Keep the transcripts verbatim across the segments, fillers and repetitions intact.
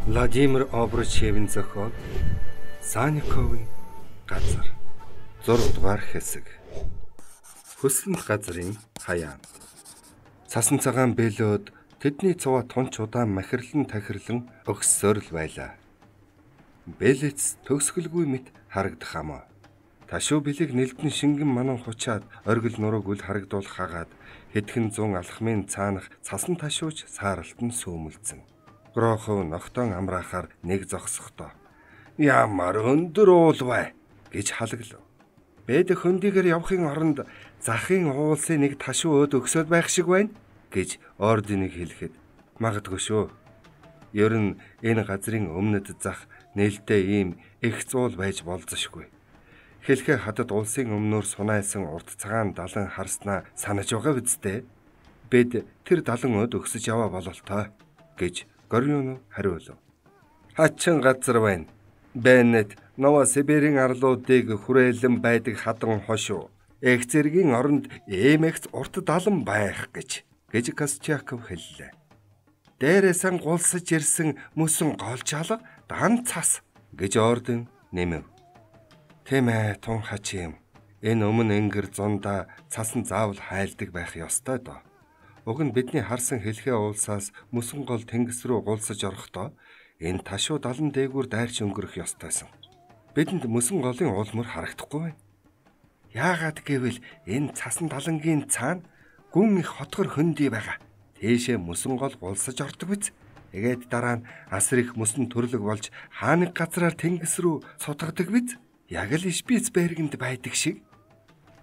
Владимир Обручевийн зохиол Санниковын газар зураг дугаар хэсэг. Хөсөлмөх газрын хаяан. Цасан цагаан бэлөөд тэдний цуваа тунч удаан махирлан тахирлан өгсөөр л байлаа. Бэлэц төгсгөлгүй мэт харагдах амаа. Ташуу бэлэг нэлдэн шингэн манан хучаад оргил нурууг үл харагдуулах хагаад хэдхэн зуун алхмын цаанах цасан ташууч сааралтан сүүмэлцэн. Грохов ногтон амраахаар нэг зогсохдоо ямар өндөр уул бай гэж халаглав. Бэд хөндийгээр явахын оронд захын уулсын нэг ташуу өд өгсөд байх шиг байна гэж орденыг хэлэхэд магадгүй шүү. Ер нь энэ газрын өмнөд зах нээлттэй ийм их зуул байж болзошгүй. Хэлхээ хатад улсын өмнөөр сунайсан урт цагаан далан харснаа санаж байгаа биз дээ. Бэд тэр далан өд өгсөж яваа бололтой гэж Горюнов хариулав. Хачин газар байна. Беннет Нова Сибирийн арлуудыг хүрээлэн байдаг хадан хошуу. Эх зэргийн оронд эмэгц урт далан байх гэж гэж Костяков хэллээ. Дээрээсэн гулсаж ирсэн мөсөн голчаалга дан цас гэж орден нэмэв. Тийм ээ, тун хачим. Энэ өмнө ингэр зундаа цасан заавал хайлдаг байх ёстой доо. Уг нь бидний харсан хэлхээ уулсаас мөсөн гол тэнгис рүү гулсаж орохдоо энэ ташуу далан дээгүүр дайрч өнгөрөх ёстойсон. Бидэнд мөсөн голын уулмөр харагдахгүй байна. Яагаад гэвэл энэ цасан далангийн цаана гүн их хотгор хөндөй байгаа. Тийшээ мөсөн гол гулсаж ордог биз. Тэгээд дараа нь асар их мөсөн төрлөг болж хааныг газраар тэнгис рүү сутгадаг биз. Яг л Шпицбергенд байдаг шиг.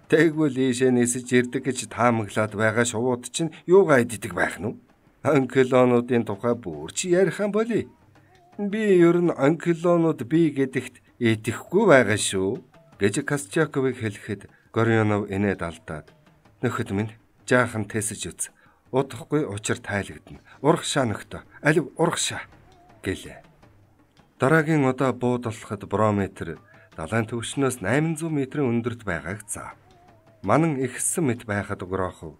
Тэгвэл ийшээ нисэж ирдэг гэж таамаглаад байгаа шувууд чинь юугаа иддэг байх нь вэ? Анклонуудын тухай бүр чи ярих юм болий. Би ер нь анклонууд би гэдэгт итгэхгүй байгаа шүү гэж Костяковыг хэлэхэд Горюнов инээд алдаад нөхөд минь жаахан тэсэж үз. Удахгүй учир тайлагдана. Урагшаа нөхдөө. Алив урагшаа гэлээ. Дараагийн удаа буудаллахад барометр далайн төвшнөөс восемь сую метрийн өндөрт байгааг заав. Манан ихсэн мэт байхад Грохов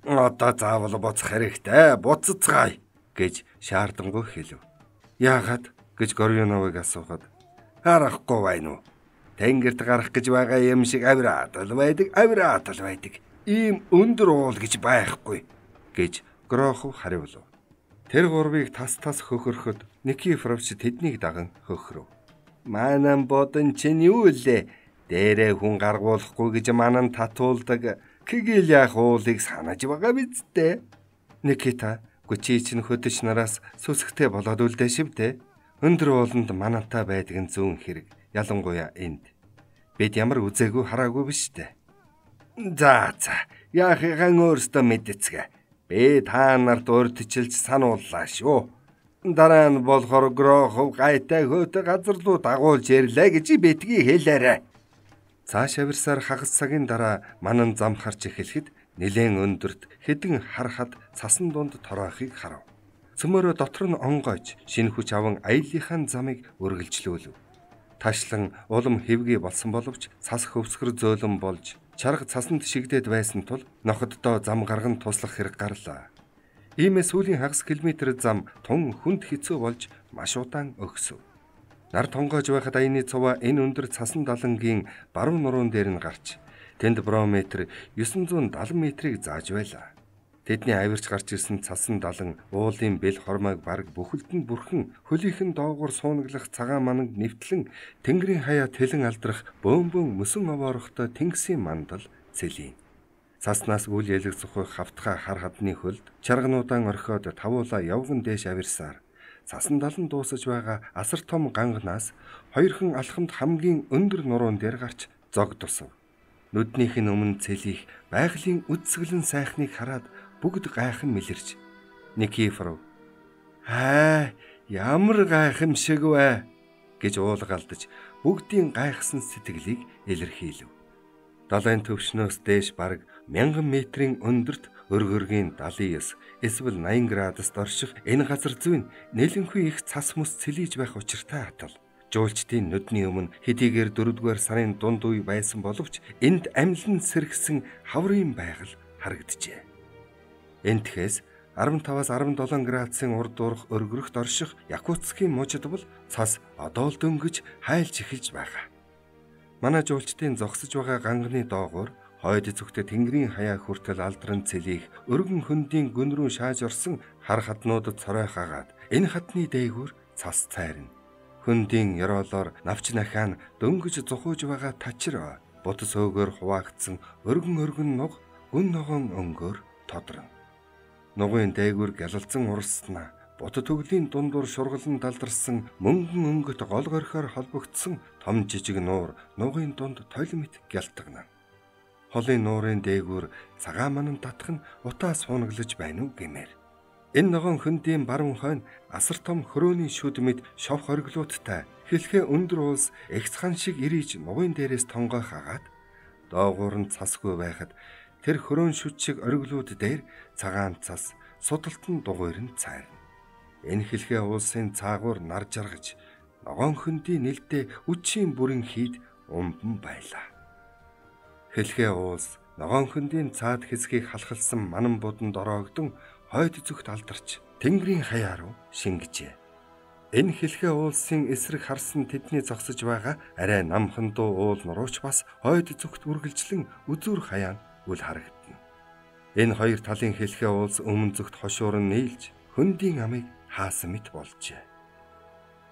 одоо заавал буцах хэрэгтэй, буцацгаая гэж шаардангуй хэлв. Яагаад гэж Горюновыг асуухад харахгүй байна уу? Тэнгэрт гарах гэж байгаа юм шиг авираад л байдаг, авираад л байдаг. Ийм өндөр уул гэж байхгүй гэж Грохов хариулв. Тэр гурвыг тас тас хөхөрөхөд Никифоровч тэднийг даган хөхрөв. Манан бодон чинь юу лээ? Дээрээ хүн гаргуулахгүй гэж манан татуулдаг кигэл яах уулыг санаж байгаа биз дээ. Никита гүчи чинь хөдөч нараас сүсгтэй болоод үлдээ шивдэ. Өндөр ууланд манантай байдаг нь зүүн хэрэг. Ялангуяа энд. Бид ямар үзээгүй хараагүй биш дээ. За за яахыгаан өөртөө мэдцгээ. Би та нарт урдчилж санууллаа шүү. Дараа нь болохоор Грохов гайтай хөөтэй газар руу дагуулж ирлээ гэж битгий хэлээрэ. Цааш авирсаар хагас цагийн дараа манан зам харж эхлэхэд нэлээд өндөрт хэдэн харахад цасан дунд тороохыг харав. Цөмөрөө дотор нь онгойж шинэ хүч аван аяллахын замыг үргэлжлүүлв. Ташлан улам хэвгий болсон боловч цас хөвсгөр зөөлөн болж чарга цасанд шигдээд байсан тул ноходдоо зам гарган туслах хэрэг гарлаа. Иймээс сүүлийн хагас километр зам тун хүнд хэцүү болж маш удаан өгсөв. Нар тонгоож байхад аяны цуваа энэ өндөр цасан далангийн баруун нуруун дээр нь гарч тэнд барометр девять сто севен метрийг зааж байлаа. Тэдний авирч гарч ирсэн цасан далан уулын бэл хормойг бараг бүхэлд нь бүрхэн хөлийнхэн доогуур суунаглах цагаан мананг нэвтлэн тэнгэрийн хаяа тэлэн алдрах бөөнбөн мөсөн овоорохтой тэнгисийн мандал цэлий. Цаснаас үл ялэг зохих хавтгай хар хадны хөлд чаргануудаан орхиод тавуула явган дээш авирсаар цасан далан дуусаж байгаа асар том ганганаас хоёрхан алхамд хамгийн өндөр нуруун дээр гарч зог тусав. Нүднийх нь өмнө цэлих байгалийн үдсгэлэн сайхныг хараад бүгд гайхан мэлэрч Никифоров "Аа, ямар гайхамшиг вэ?" гэж уулгалдаж бүгдийн гайхсан сэтгэлийг илэрхийлв. Далайн төвшнөөс дээш бараг мянган метрийн өндөрт өргөргийн семьдесят девять эсвэл найман градуст орших энэ газар зүйн нэлэнгүй их цас мэс цэлийж байх учиртай хатал. Жуулчдын нүдний өмнө хэдийгээр дөрөвдүгээр сарын дунд үе байсан боловч энд амьлан сэргсэн хаврын байгаль харагджээ. Энтхээс арван таваас арван долоон градусын урд уурах өргөрөхт орших Якутскийн мужид бол цас одоол дөнгөж хайлж эхэлж байгаа. Манай жуулчдын зогсож байгаа ганганы доогуур хойд зүгтээ тэнгэрийн хаяа хүртэл алдран цэлийх өргөн хөндийн гүн рүү шааж орсон хар хатнуудад цорой хагаад энэ хатны дээгүүр цас цайрна. Хөндийн ёроолоор навч нахаан дөнгөж зухууж байгаа тачир бутас өөгөр хуваагдсан өргөн өргөн нуг гүн ногоон өнгөөр тодрон. Нугын дээгүүр гялалзан уралснаа бут төглийн дундуур шургалан далдарсан мөнгөн өнгөт гол горхоор холбогдсон том жижиг нуур нугын дунд тойлмит гялтагна. Холын нуурын дээгүүр цагаан манан татах нь утаа суунаглаж байна уу гэмээр. Энэ ногоон хөндийн баруун хойно асар том хөрөөний шүд мэд шов хориглуудтай хэлхээ өндөр уус эгцхан шиг ирийж нугын дээрээс тонгой хагаад доогуур нь цасгүй байхад тэр хөрөөн шүд шиг ориглууд дээр цагаан цас судалтан дугуйр нь цайрна. Энэ хэлхээ уулсын цаагуур нар жаргаж ногоон хөндийн нэлдээ үчийн бүрэн хийд умбан байлаа. Хэлхээ уулс ногоон хөндийн цаад хэсгийг халахалсан манан буданд ороогдсон хойд зүгт алдарч тэнгэрийн хаяа руу шингэжээ. Энэ хэлхээ уулсын эсрэг харсан тэдний зогсож байгаа арай намхан дуу уул нурууч бас хойд зүгт үргэлжлэн үзүүр хаяан үл харагдана. Энэ хоёр талын хэлхээ уулс өмнө зүгт хошуурн нийлж хөндийн амыг хаасан мэт болжээ.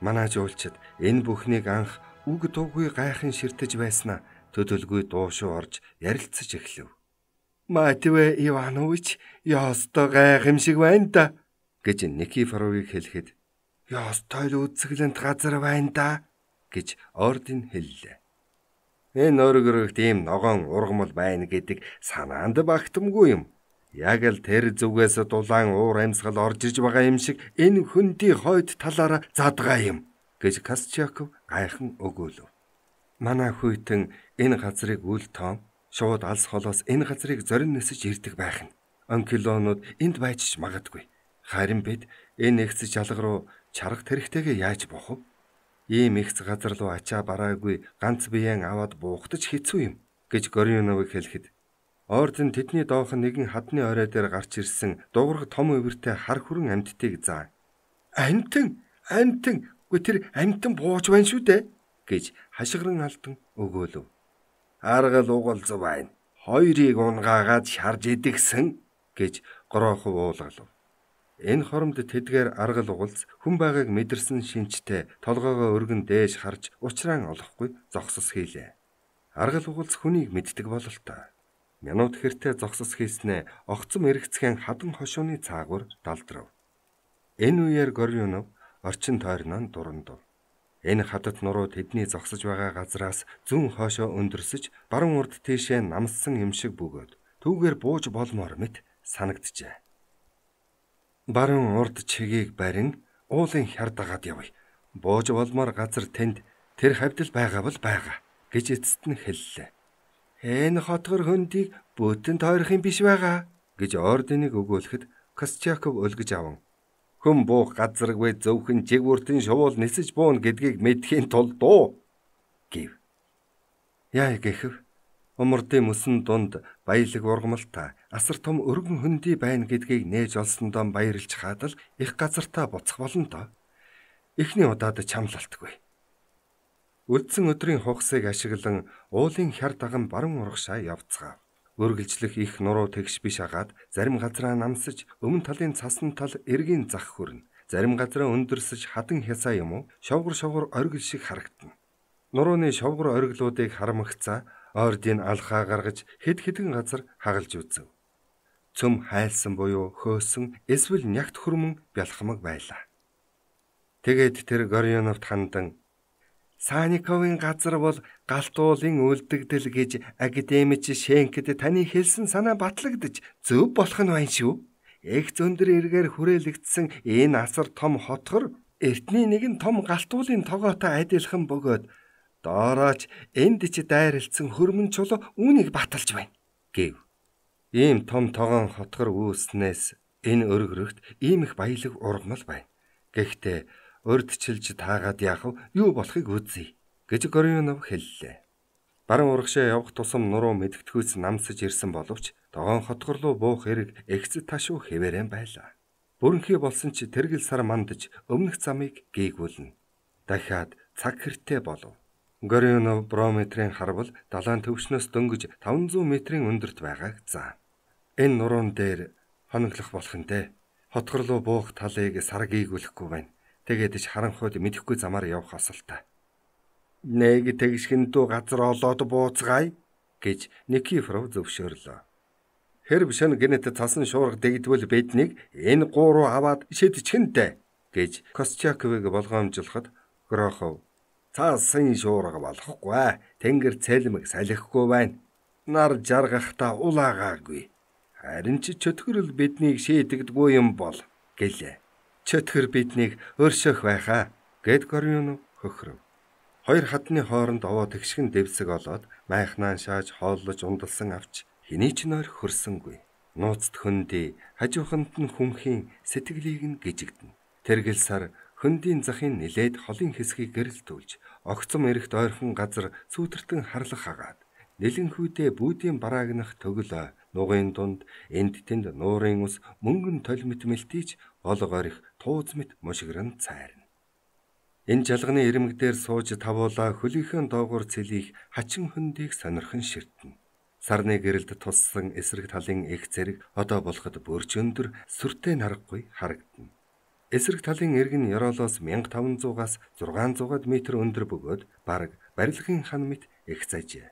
Манай жуулчид энэ бүхнийг анх үг дуугүй гайхан ширтэж байснаа төдөлгүй дуушуу орж ярилцаж эхлэв. "Матвей Иванович, яостой гайхамшиг байна да" гэж Никифоровыг хэлэхэд "Яостой л үзэсгэлэнт газар байна да" гэж ордын хэллээ. Энэ өргөрөгт ийм ногоон ургамал байна гэдэг санаанд багтамгүй юм. Яг л тэр зүгээс дулаан уур амьсгал орж иж байгаа юм шиг энэ хөндий хойд талаараа задгаа юм гэж Костяков гайхан өгөөлөв. Манай хүйтэн энэ газрыг үл тоом шууд алс холоос энэ газрыг зорин нисэж ирдэг байх нь. Он килонууд энд байж ч магадгүй. Харин бид энэ ихц жалга руу чарга тэрхтэйгээ яаж бохов? Ийм ихц газар руу ачаа бараагүй ганц биеэн аваад буухтаж хэцүү юм гэж Горюновыг хэлэхэд орден тэдний доох нэгэн хадны орой дээр гарч ирсэн дуурга том өвөртэй хар хүрэн амьтдыг заа. "Амьтан, амьтан, гүй тэр амьтан бууж байна шүү дээ" гэж хашгиран алдан өгөөлөв. "Аргал угалз байна. Хоёрыг унгаагаад шарж идэгсэн" гэж Гороохов уулгалав. Энэ хоромд тэдгээр аргал угалз хүн байгааг мэдэрсэн шинжтэй толгоогоо өргөн дээш харж учраан олохгүй зогсос хийлээ. Аргал угалз хүнийг мэддэг бололтой. Минут хэртэ зогсос хийснээ огцом эргэцгэн хадан хошууны цаагуур далдрав. Энэ үеэр Горюнов орчин тойрноо дурандав. Энэ хадад нуруу тэдний зогсож байгаа газраас зүүн хоошоо өндөрсөж баруун урд тийшээ намссан юм шиг бөгөөд түүгээр бууж болмоор мэт санагджээ. Баруун урд чигийг барин уулын хяр дагаад явъя. Бууж болмоор газар тэнд тэр хавьд л байгаа бол байгаа гэж эцэст нь хэллээ. "Энэ хотгор хөндийг бүтэн тойрох юм биш байгаа" гэж орденыг өгөөлөхөд Костяков өлгөж аван "Хүн буух газаргүй зөвхөн жиг бүртэн шувуул нисэж буун гэдгийг мэдхийн тулд дуу" гэв. Яа гэхэв умардын мөсөн дунд баялаг ургамалтай асар том өргөн хөндөй байна гэдгийг нээж олсондоо баярлж хаадал их газартаа буцах болно доо. Эхний удаад чамлалтгүй. Үлдсэн өдрийн хугасыг ашиглан уулын хяр даган баруун урагшаа явцгаав. Өргөлжлөх их нуруу тэгш биш агаад зарим газраа намсаж өмнө талын цасан тал эргийн зах хүрнэ. Зарим газраа өндөрсөж хадан хясаа юм уу шовгор шовгор оргил шиг харагдана. Нурууны шовгор оргилуудыг харамгцаа ордын алхаа гаргаж хэд хэдэн газар хагалж үзв. Цөм хайлсан буюу хөөсөн эсвэл нягт хөрмөн бялхамаг байлаа. Тэгээд тэр Горюновт хандан "Саниковын газар бол галтуулын үлдэгдэл гэж академич Шенкэд таны хэлсэн санаа батлагдаж зөв болох нь байна шүү. Их зөндөр эргээр хүрээлэгдсэн энэ асар том хотгор эртний нэгэн том галтуулын тогоотой адилхан бөгөөд доорооч энд ч дайралцсан хөрмөн чулуу үүнийг баталж байна" гэв. Ийм том тогоон хотгор үүснээс энэ өргөрөгт ийм их баялаг ургамал байна. Гэхдээ урдчилж таагаад яах вэ? Юу болохыг үзье гэж Горюнов хэллээ. Баруун урагшаа явах тусам нуруу мэдгэдгүйс намсаж ирсэн боловч тогоон хотгор руу буух хэрэг эгцэд ташуу хэвээрэн байлаа. Бүрэнхий болсон ч тэргэл сар мандаж өмнөх замыг гээгүүлнэ. Дахиад цаг хэртэй болов. Горионов барометрийн харвал далайн төвшнөөс дөнгөж таван зуун метрийн өндөрт байгааг заа. Энэ нуруун дээр хоноглох болох нь дээ. Хотгор руу буух талыг сар гээгүүлэхгүй байна. Тэгээд ч харанхуйд мэдэхгүй замаар явах асуултаа. Нэг тэгшгэндүү газар олоод бууцгаая гэж Никифоров зөвшөөрлөө. Хэрв шөнө гинэт цасан шуурга дэгдвэл биднийг энэ гуруу аваад шидчихэнтэй гэж Костяковыг болгоомжлоход Грохов цаасан шуурга болохгүй. Тэнгэр цэлмэг салхихгүй байна. Нар жаргахта улаагаагүй. Харин ч чөтгөрл биднийг шийдэгдгүй юм бол гэлээ. Чөтгөр биднийг өршөөх байхаа гэд Горионов хөхрөв. Хоёр хадны хооронд овоо тэгшгэн дэвсэг олоод майхнаан шааж хооллож ундалсан авч хэний ч нойр хөрсөнгүй. Нууцт хөндөй хажууханд нь хүмхийн сэтгэлийг нь гжигдэнэ. Тэргэл сар хөндийн захын нилээд холын хэсгийг гэрэлтүүлж огцом эрэгт ойрхон газар сүүтэртэн харлах хагаад нэлэнхүйдээ бүүдийн бараагнах төглөө нугын дунд энд тэнд нуурын ус мөнгөн толмит мэлтийч олго орих тууз мэт мушигран цайрна. Энэ жалганы ирмэг дээр сууж тавуулаа хөлийнхөө доогуур цэлийх хачин хөндийг сонирхон ширтэнэ. Сарны гэрэлд туссан эсрэг талын их зэрэг одоо болоход бүрч өндөр сүртэй наргагүй харагдана. Эсрэг талын эрг нь ёроолоос мянга таван зуугаас зургаан зуугаад метр өндөр бөгөөд бараг барилгын хан мэт их зажээ.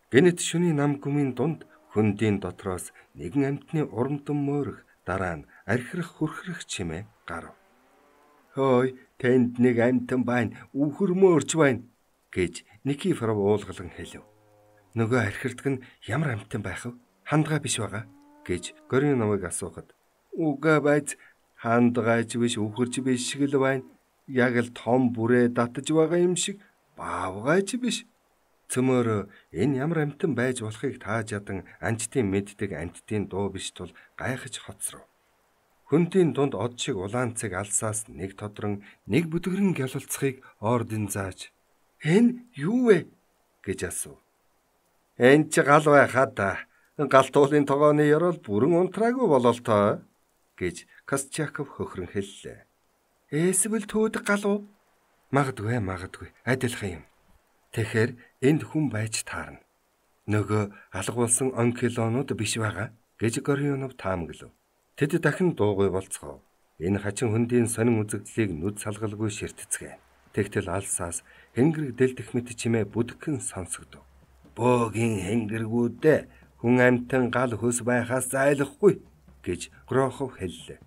Гэнэт шөнийн нам гүмийн дунд хөндийн дотроос нэгэн амтны урамдан мөөрөх дараа нь архирах хүрхрэх чимээ гарав. Хөөй, тэнд нэг амтан байна, үхэр мөөрч байна гэж Никифоров уулгалан хэлв. Нөгөө архирдаг нь ямар амтан байх вэ? Хандгай биш байгаа гэж Горионовыг асуухад үгүй байж хандгайч биш үхэрч биш шиг л байна. Яг л том бүрээ татж байгаа юм шиг баавгайч биш. Цөмөр энэ ямар амтан байж болохыг тааж ядан анчтын мэддэг амттын дуу биш тул гайхаж хоцров. Хөндийн дунд од шиг улаанцэг алсаас нэг тодрон нэг бүдгэрэн гялалцахыг ордын зааж "Энэ юу вэ?" гэж асуув. "Энэ ч гал байхаа да. Галтуулын тогооны ёроол бүрэн унтраагүй бололтоо" гэж Костяков хөхрөн хэллээ. "Эсвэл төөд гал уу?" "Магадгүй, магадгүй. Адилхан юм. Тэгэхээр энд хүн байж таарна. Нөгөө алгуулсан он килонууд биш байгаа" гэж Горионов таамаглав. Тэд дахин дуугүй болцгоо. Энэ хачин хөндийн сонин үзэгдлийг нүд салгалгүй ширтцгээ. Тэгтэл алсаас хэнгэрэг дэлдэх мэт чимээ бүдгхэн сонсогдов. "Бөөгийн хэнгэргүүдээ хүн амтан гал хөс байхаас зайлахгүй" гэж Грохов хэллээ.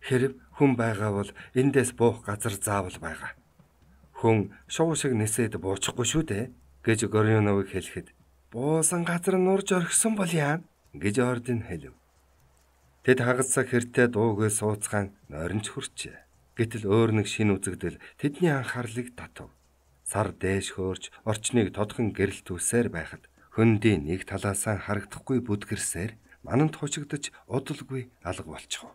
"Хэрв хүн байгаа бол эндээс буух газар заавал байгаа. Хүн шуу шиг нисээд буучихгүй шүү дээ" гэж Горионовыг хэлэхэд "Буусан газар нурж орхисон бол яа?" гэж ордын хэлв. Тэд хагацсаг хэртээ дуугүй сууцгаан нойронч хүрчээ. Гэтэл өөр нэг шин үзэгдэл тэдний анхаарлыг татав. Сар дээш хөөрч орчныг тодхон гэрэлтүүлсээр байхад хөндийн нэг талаасаа харагдахгүй бүдгэрсээр мананд хучигдаж удалгүй алга болчихов.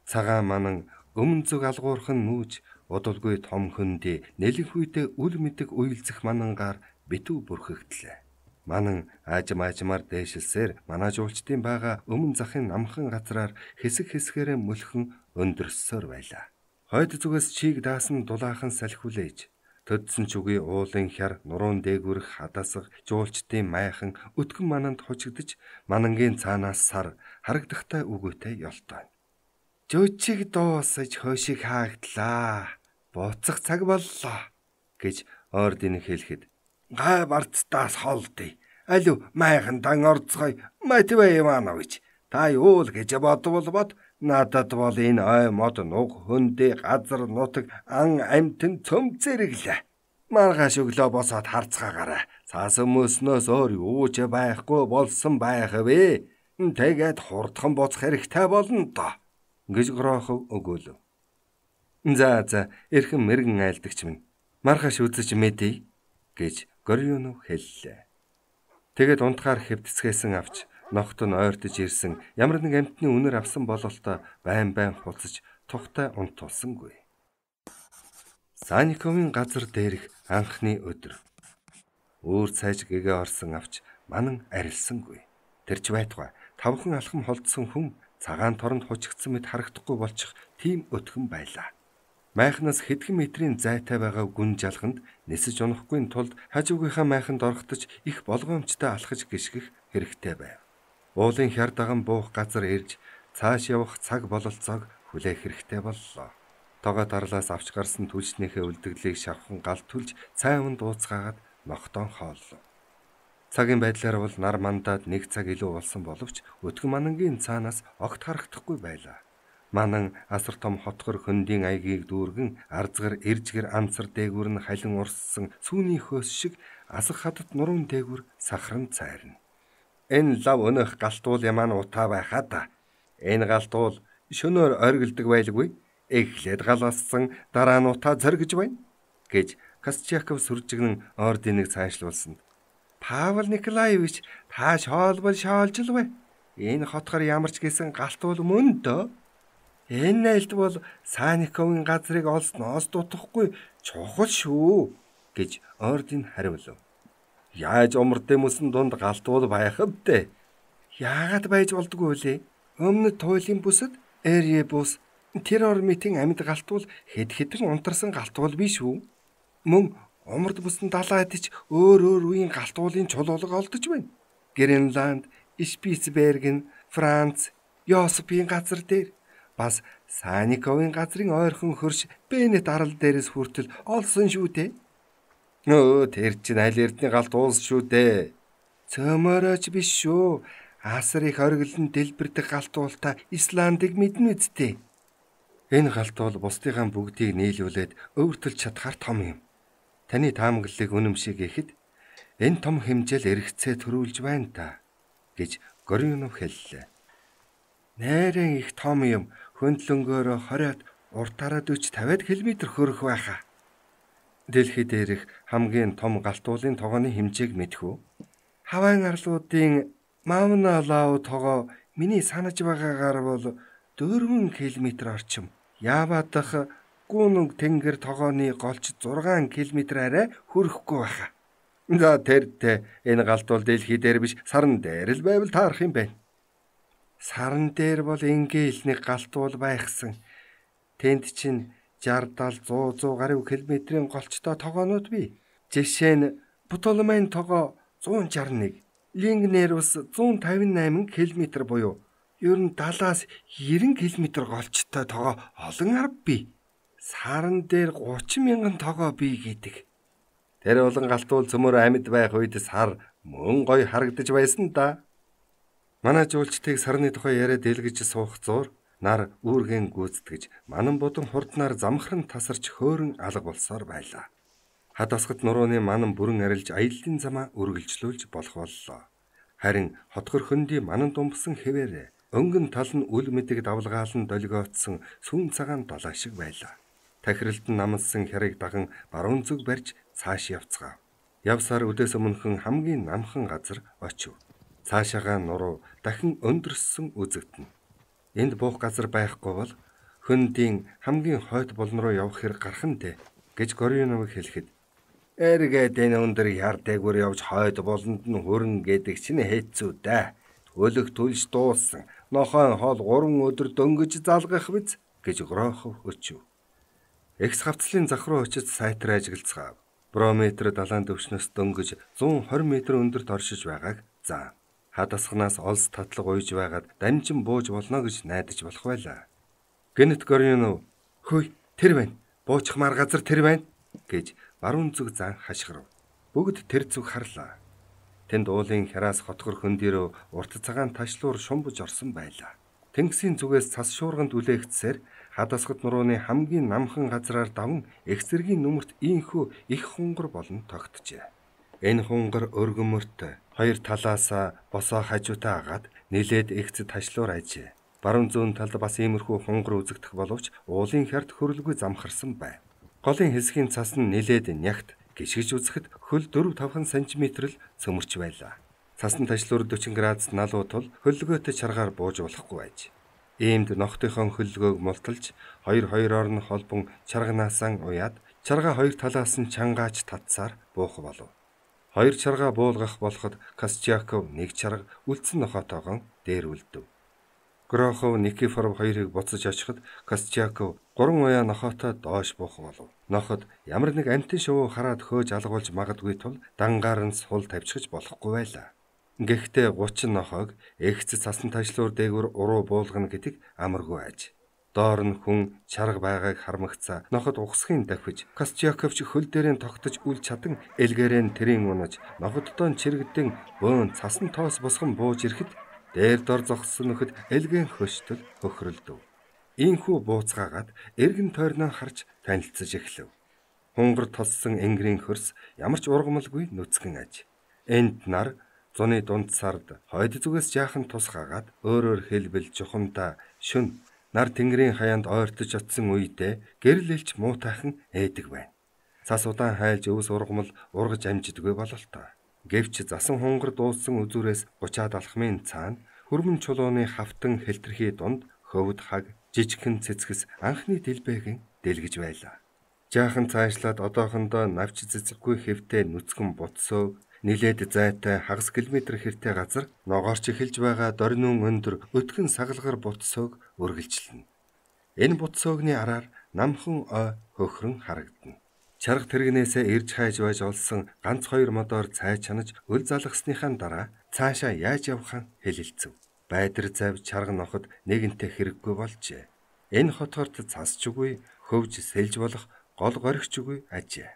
Цагаан манан өмнө зүг алгуурхан нүүж удалгүй том хөндий нэлэнхүйдээ үл мэдэг уйлзэх манангаар битүү бүрхэгдлээ. Манан аажим аажмаар дээшилсээр манажуулчдын байгаа өмнө захын намхан газраар хэсэг хэсгээрээ мөлхөн өндөрсөөр байлаа. Хойд зүгээс чийг даасан дулаахан салхиулээж төдсөн ч үгүй уулын хяр нуруун дээгүрэх хадасах жуулчдын майхан өтгөн мананд хучигдж манангийн цаанаас сар харагдахтай үгүйтэй ёлтой. "Жөчиг дуусаж хойшиг хаагдлаа. Буцах цаг боллоо" гэж ордын хэлэхэд "Гай барцтаас холдъё. Алив майхан дан орцгой Матвей Иванович. Та юу л гэж бодвол бод. Надад бол энэ ой мод нуг хөндөө газар нутаг ан амтэн цөм зэрэглээ. Маргааш өглөө босоод харцгаагаарай. Цаас өмөөснөөс өөр юу ч байхгүй болсон байх вэ. Тэгээд хурдхан буцах хэрэгтэй болно доо" гэж Грохов өгөөлөв. "За за, эрхэм мэрэгэн айлдагч минь. Маргааш үзэж мэдье" гэж Горионов хэллээ. Тэгээд унтахаар хэвтцгээсэн авч нохт нь ойртож ирсэн ямар нэг амтны үнэр авсан бололтой байн байн хуцаж тухтай унтуулсангүй. Саньковын газар дээрх анхны өдөр. Өөр цайж гэгээ орсон авч манан арилсангүй. Тэрч байтугай тавхан алхам холдсон хүн Цагаан торонд хучигдсан мэт харагдахгүй болчих тийм өтгөн байлаа. Майхнаас хэдхэн метрийн зайтай байгаа гүн жалганд нисэж унахгүй тулд хажуугийнхаа майханд орохтож их болгоомжтой алхаж гიშгэх хэрэгтэй байв. Уулын хяр даган буух газар ирж цааш явах цаг бололцоог хүлээх хэрэгтэй боллоо. Тогоо дарлаас авч гарсан түлшнийхээ үлдэгдлийг шавхан гал түлж цайван дууцгаагаад ногтоон хооллоо. Цагийн байдлаар бол нар мандаад нэг цаг илүү болсон боловч өтгөн манангийн цаанаас огт харагдахгүй байлаа. Манан асар том хотгор хөндийн аягийг дүүргэн арзгар иржгэр амцар дээгүүр нь халин урссан сүүний хөөс шиг асах хадад нуруун дээгүүр сахарн цайрна. Энэ лав өнөх галтуул ямаа утаа байхаа да. Энэ галтуул шөнөөр оргилдог байлгүй. Эхлээд галаассан дараа нь утаа зоргиж байна гэж Костяков сүржигнэн ординыг цаашлуулсанд Павел Николаевич та шоолбол шоолжлвэ. Энэ хотгор ямар ч гэсэн галтуул мөн дөө. Энэ найлд бол Саниковын газрыг олсноос дутахгүй чухал шүү гэж ордин хариулв. Яаж умард юмсан дунд галтуул байх вэ? Яагаад байж болдгоо лээ? Өмнө туйлын бүсэд Эрье бус тэр ормитын амьд галтуул хэд хэдэн унтарсан галтуул биш үү? Мөн умард бүсэн далайд ч өөр өөр үеийн галтуулын чулуулга олдож байна. Гренланд, Шпицберген, Франц, Йосипийн газар дээр бас Саниковын газрын ойрхон хөрш Бенет арал дээрээс хүртэл олсон шүү дээ. Нөө тэр чинь аль эрдний галтуулс шүү дээ. Цөмөрөөч биш шүү. Асар их оргилон дэлбэрдэг галтуулта Исландыг мэднэ үсттэй. Энэ галтуул бусдынхаа бүгдийг нийлүүлээд өвөртөлж чадхаар том юм. Таны таамаглалыг үнэмшиг ихэд энэ том хэмжээл эргэцээ төрүүлж байна та гэж Горюнов хэллээ. Нээрэн их том юм хөндлөнгөөрөө хориод уртаараа дүйч тавиад километр хөрөх байхаа. Дэлхийд дээрх хамгийн том галтуулын тогооны хэмжээг мэдэх үү? Хавайн арлуудын Мауна Лау тогоо миний санаж байгаагаар бол дөрвөн километр орчим. Яава дахь Гүнг тэнгэр тогооны голч зургаан километр арай хүрэхгүй байхаа. За тэртээ энэ галтуул дэлхий дээр биш сарн дээр л байвал таарах юм байна. Сарн дээр бол ингээл нэг галтуул байхсан. Тэнд чинь жардал зуун зуун гаруй километрийн голчтой тогоонууд бий. Жишээ нь Птолемейн тогоо зуун шарх нэг, Лингнерус зуун тавин восемь километр буюу ер нь даалаас девяносто километр голчтой тогоо олон арга бий. Сарн дээр гучин мянган тогоо бий гэдэг. Тэр болон галтуул цөмөр амьд байх үед сар мөн гой харагдаж байсан да. Манай жуулчдыг сарны тухай яриад дэлгэж суух зуур нар үүргэн гүйцэтгэж манан бодон хурднаар замхран тасарч хөөрөн алга болсоор байлаа. Хадасгад нурууны манан бүрэн арилж аяллаа замаа үргэлжлүүлж болох боллоо. Харин хотгор хөндөй манан думбсан хэвээрээ өнгөн тал нь үл мэдэг давлгаалan долгиотсон сүүн цагаан долоо шиг байлаа. Тахиралд нь намсан хярыг даган баруун зүг барьж цааш явцгаав. Явсаар өдөөс өмнөхөн хамгийн намхан газар очив. Цаашаага нуруу дахин өндөрсөн үзэгдэнэ. Энд буух газар байхгүй бол хөндийн хамгийн хойд болон руу явах хэрэг гарах нь дээ гэж Горюнов хэлэхэд эргээд энэ өндөр яар дээгүүр явж хойд болонд нь хөрөн гэдэг чинь хэцүү дээ. Төлөх түлж дууссан. Нохойн хоол гурван өдөр дөнгөж залгах биз гэж Грохов өчөв. Экс хавцлын зах руу очиж сайтар ажиглацгаав. Брометр далайн төвшнөөс дөнгөж зуун хорь метр өндөрт оршиж байгааг заа. Хадасганаас олс татлаг уйж байгаад дамжин бууж болно гэж найдаж болох байлаа. Гэнэт Горюнов "Хөөе, тэр байна. Буучхмаар газар тэр байна" гэж баруун зүг зан хашгирав. Бүгд тэр зүг харлаа. Тэнд уулын хяраас хотгор хөндөрөө урт цагаан ташлуур шумбаж орсон байлаа. Тэнгисийн зүгээс цас шуурганд үлээгдсээр хадасгад нурууны хамгийн намхан газраар даван их зэргийн нүмерт ийхүү их хунгар болон тогтжээ. Энэ хунгар өргөмөрт хоёр талаасаа босоо хажуутай агаад нилээд ихц ташлуур ажээ. Баруун зүүн талд бас иймэрхүү хунгар үзэгдэх боловч уулын хярд хөрөлгүй замхарсан байв. Голын хэсгийн цас нь нилээд нягт гიშгэж үзэхэд хөл дөрвөн тавхан сантиметр л цөмөрч байлаа. Цасны ташлуур forty градус налуу тул хөллөгөөтэй чаргаар бууж болохгүй байж. Иймд ногтынхон хөллөгөөг мулталж хоёр хоёроор нь холбон чарганаасаа уяад чарга хоёр талаас нь чангаач татсаар буух болов. Хоёр чарга буулгах болоход Костяков нэг чарга үлдсэн нохотойгон дээр үлдэв. Грохов Никифоров хоёрыг буцаж очиход Костяков гурван уяа нохоотой доош буух болов. Ноход ямар нэг амтэн шувуу хараад хөөж алгуулж магадгүй тул дангаар нь сул тавьчихж болохгүй байлаа. Гэхдээ гучин нохоог эгц цасан тажлуур дээгүүр уруу буулгана гэдэг амаргүй аж. Доор нь хүн чарга байгааг хармагцаа ноход угсахын давхиж Костяковч хөл дээрээ тогтож үл чадан элгээрэн тэрийн унаж ноходдоо чирэгдэн бөөн цасан тоос босгон бууж ирэхэд дээр дор зогссон нөхөд элгэн хөштөл хөхрөлдөв. Ийхүү бууцгаагаад эргэн тойрноо харж танилцаж эхлэв. Хунгар тоссон энгэрийн хөрс ямар ч ургамалгүй нүцгэн аж. Энд нар зуны дунд сард хойд зүгээс жаахан тусгаагаад өөрөөр хэлбэл жухамдаа шүн нар тэнгэрийн хаяанд ойртож очсон үедээ гэрэл элч муутайхан ээдэг байна. Цас удаан хайлж өвс ургамал ургаж амжидгүй бололтой. Гэвч засан хунгар дууссан үзүүрээс гучаад алхмын цаана хөрмөн чулууны хавтан хэлтрхий дунд хөвд хаг жижигхэн цэцгэс анхны дэлбэгийн дэлгэж байлаа. Жаахан цаашлаад одоохондоо навч цэцэггүй хэвтэй нүцгэн бутсөө нилээд зайтай хагас километр хэртэй газар ногоорч эхэлж байгаа дорнун өндөр өтгөн сагалгар бутсөөг үргэлжилнэ. Энэ бутсөөгний араар намхан ой хөхрөн харагдана. Чарга тэрэгнээсээ ирж хайж байж олсон ганц хоёр модоор цай чанаж өл залгасныхаа дараа цаашаа яаж явахаа хэлэлцэв. Байдар завь чарга ноход нэгэнтээ хэрэггүй болжээ. Энэ хотгорт цасчгүй хөвж сэлж болох гол горигчгүй ажээ.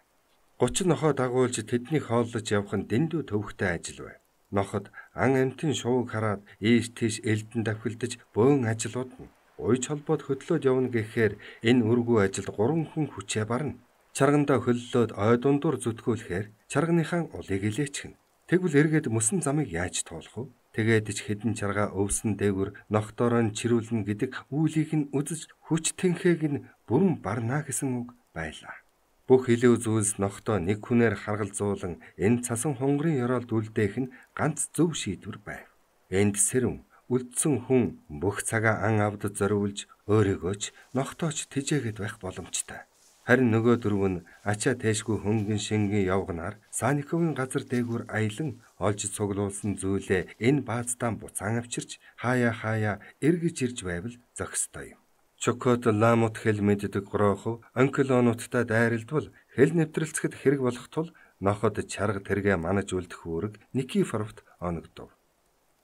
гучин нохоо дагуулж тэднийг хооллож явах нь дэндүү төвхтэй ажил бай. Ноход ан амтын шувууг хараад ийш тийш элдэн давхилдаж бөөн ажлууд нь уйж холбоод хөдлөөд явна гэхээр энэ үргүй ажилд гурван хүн хүчээ барна. Чаргандаа хөллөөд ой дундуур зүтгүүлэхээр чарганыхаа улыг илээчихнэ. Тэгвэл эргээд мөсөн замыг яаж туулах вэ? Тэгээд ч хэдэн чарга өвсөн дээгүр ногтоороо чирүүлнэ гэдэг үүлийг нь үзэж хүч тэнхээг нь бүрэн барна гэсэн үг байлаа. Бүх илүү зүйлс ногтоо нэг хүнээр харгалзуулан энэ цасан хунгарын ёроолд үлдээх нь ганц зөв шийдвэр байв. Энд сэрэн үлдсэн хүн бүх цагаа ан авдад зориулж өөрийгөө ч ногтооч тэжээгээд байх боломжтой. Харин нөгөө дөрөв нь ачаа тэшгүй хөнгөн шингийн явганаар Саниковын газар дээгүүр аялан олж цуглуулсан зүйлээ энэ баазтаа буцаан авчирч хаяа хаяа эргэж ирж байвал зохистой юм. Чокот ламут хэл мэддэг Грохов онколонуудтай дайралдвал хэл нэвтрэлцэхэд хэрэг болох тул ноход чарга тэргээ манаж үлдэх үүрэг Никифоровт оногдов.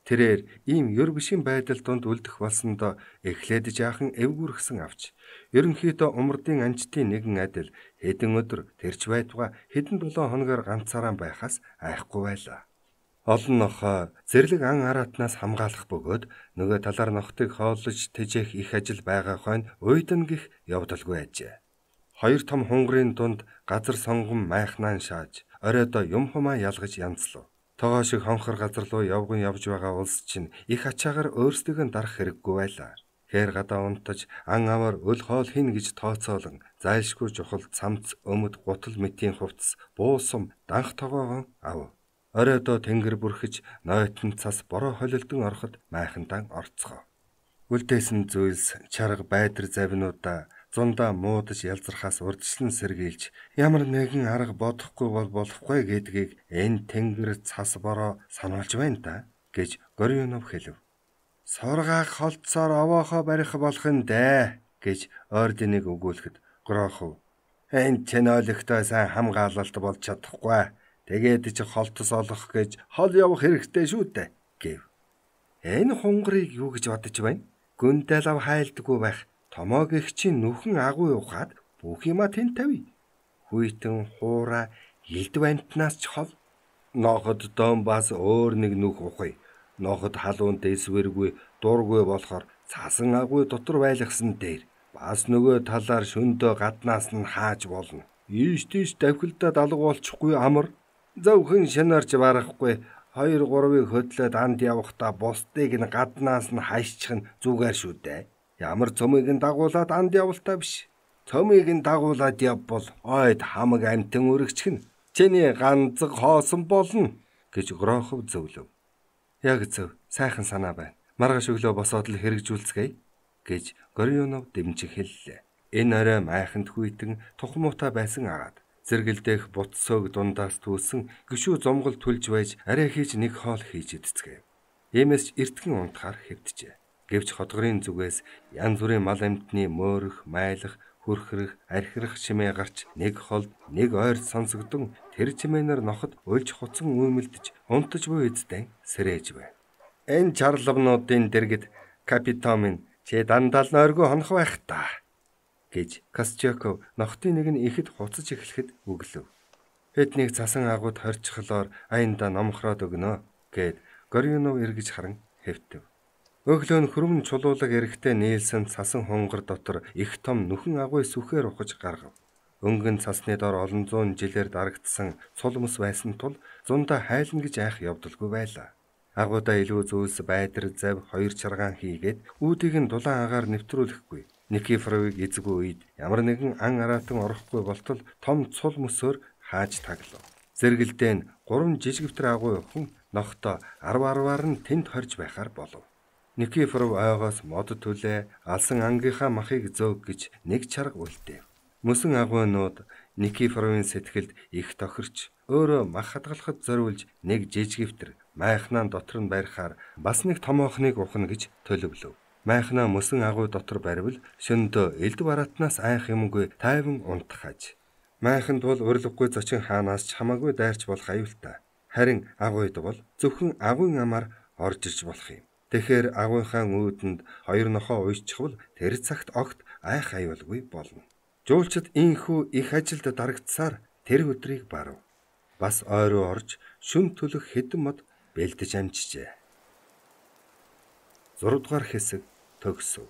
Тэрээр ийм ёр бишийн байдал донд үлдэх болсондоо эхлээд жаахан эвгүрхсэн авч ерөнхийдөө умардын анчтын нэгэн адил хэдэн өдөр тэрч байтугай хэдэн долоо хоногоор ганцаараа байхаас айхгүй байлаа. Олон нохоо зэрлэг ан араатнаас хамгаалах бөгөөд нөгөө талаар нохтыг хооллож тэжээх их ажил байгаа хойно уйдан гих явдалгүй ажээ. Хоёр том хунгарын дунд газар сонгон майхнаан шааж оройдоо юм хумаа ялгаж янзлав. Тогоо шиг хонхор газар руу явган явж байгаа улс чинь их ачаагаар өөрсдөө дарах хэрэггүй байлаа. Хээр гадаа унтаж ан аваар өл хоол хин гэж тооцоолон зайлшгүй чухал цамц өмд гутал мэтийн хувцс буусам данх тогоогоо ав. Оройдоо тэнгэр бүрхэж нойтон цас бороо холилдон ороход майхандан орцгоо. Үлдээсэн зүйлс чарга байдар завинуудаа зундаа муудаж ялзрахаас урдчлан сэргийлж ямар нэгэн арга бодохгүй бол болохгүй гэдгийг энэ тэнгэр цас бороо сануулж байна да гэж Горюнов хэлв. Сургааг холцоор овоохоо барих болох нь дээ гэж орденыг өгүүлэхэд Грохов энэ чэнолөгтөө сайн хамгаалалт болж чадахгүй. Тэгээд чи холтос олох гэж хол явах хэрэгтэй шүү дээ гэв. Энэ хунгарыг юу гэж бодож байна? Гүндэл ав хайлдаггүй байх. Томоог их чинь нүхэн агуу ухаад бүх юма тэн тавь. Хүйтэн хуура илд бантнаас ч хол. Ноход дом бас өөр нэг нүх ухъя. Ноход халуун дэсвэргүй дургүй болохоор цасан агуу дотор байлгасан дээр бас нөгөө талаар шөндөө гаднаас нь хааж болно. Ийш тийш давхилдаад алга болчихгүй амар. Зөвхөн шанаарч барахгүй хоёр гурвыг хөдлөөд анд явахдаа бусдыг нь гаднаас нь хайшчих нь зүгээр шүү дээ. Ямар цөмийг нь дагуулад анд явалтаа биш. Цөмийг нь дагуулад явбал ойд хамаг амтэн өргөчгөн чиний ганцэг хоосон болно гэж Грохов зөвлөв. Яг зөв, сайхан санаа байна. Маргааш өглөө босоод л хэрэгжүүлцгээе гэж Горюнов дэмжих хэллээ. Энэ орой майханд хүйтэн тухмуутай байсан агаад зэргэлдэх бутсөөг дундаас түүсэн гişүү зомгол түлж байж арай хийж нэг хоол хийж идцгээв. Иймээс эртхэн унтахаар хэвтжээ. Гэвч хотгорын зүгээс янз бүрийн мал амьтны мөөрөх, майлах, хүрхрэх, архирах чимээ гарч нэг холд нэг ойрд сонсогдсон тэр чимээнэр ноход уйлж хуцан үүмэлдэж унтаж буй эзтэй сэрээж байв. Энэ чарлавнуудын дэргэд капитан минь чи дандаа л нойргүй хонох байх та гэж Костяков нохтын нэг нь ихэд хуцаж эхлэхэд өглөв. Хэднийг цасан агууд хорчихлоор аянда номхроод өгнө гэд Горюнов эргэж харан хэвтэв. Өглөө нь хөрмөн чулуулаг эрэхтэй нийлсэн цасан хунгар дотор их том нүхэн агуй сүхээр ухаж гаргав. Өнгөн цасны дор олон зуун жилээр дарагдсан цулмс байсан тул зундаа хайлна гэж айх явдалгүй байлаа. Агуудаа илүү зүйлс байдар зав хоёр чаргаан хийгээд үүдийг нь дулаан агаар нэвтрүүлэхгүй. Никифоровыг эзгүй үед ямар нэгэн ан араатан орохгүй болтол том цул мөсөөр хааж таглав. Зэргэлдээ нь гурван жижигвтер агуй хүн нохтой арв арваар нь тэнд хорж байхаар болов. Никифоров ойгоос мод түлээ алсан ангийнхаа махыг зөөг гэж нэг чарга үлдээв. Мөсөн агуйнууд Никифоровын сэтгэлд их тохирч өөрөө мах хадгалахад зориулж нэг жижигвтер майхнаа дотор нь барихаар бас нэг томоохныг ухна гэж төлөвлөв. Майхнаа мөсөн агуй дотор баривал шөндөө элд бараатнаас айх юмгүй тайван унтахаж. Майханд бол урилгагүй зочин хаанаас ч хамаагүй дайрч болох аюултай. Харин агуйд бол зөвхөн агуйн амаар орж иж болох юм. Тэгэхээр агуйхаа үүдэнд хоёр нохоо уйччихвал тэр цагт огт айх аюулгүй болно. Жуулчид ийхүү их ажилд дарагдсаар тэр өдрийг барав. Бас ойроо орж шүн төлөх хэдэн мод бэлдэж амжижээ. зураг дугаар хэсэг төгсөв.